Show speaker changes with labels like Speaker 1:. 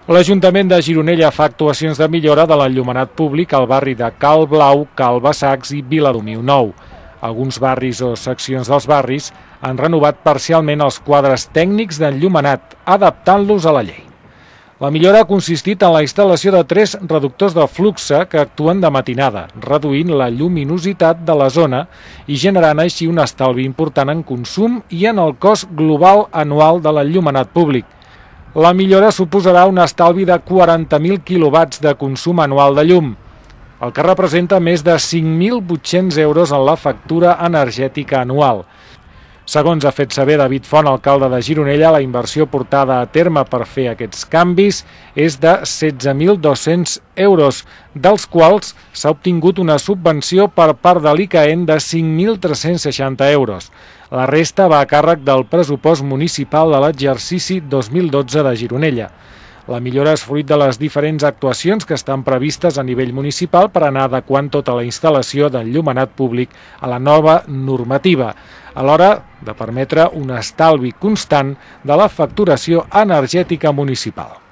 Speaker 1: L'Ajuntament de Gironella fa actuacions de millora de l'enllumenat públic al barri de Cal Blau, Cal Bassacs i Viladomiu Nou. Alguns barris o seccions dels barris han renovat parcialment els quadres tècnics d'enllumenat, adaptant-los a la llei. La millora ha consistit en la instal·lació de 3 reductors de flux que actuen de matinada, reduint la lluminositat de la zona i generant així un estalvi important en consum i en el cost global anual de l'enllumenat públic. La millora suposarà un estalvi de 40.000 quilowatts de consum anual de llum, el que representa més de 5.800 euros en la factura energètica anual. Segons ha fet saber David Font, alcalde de Gironella, la inversió portada a terme per fer aquests canvis és de 16.200 euros, dels quals s'ha obtingut una subvenció per part de l'ICAEN de 5.360 euros. La resta va a càrrec del pressupost municipal de l'exercici 2012 de Gironella. La millora és fruit de les diferents actuacions que estan previstes a nivell municipal per anar adequant tota la instal·lació d'enllumenat públic a la nova normativa, a l'hora de permetre un estalvi constant de la facturació energètica municipal.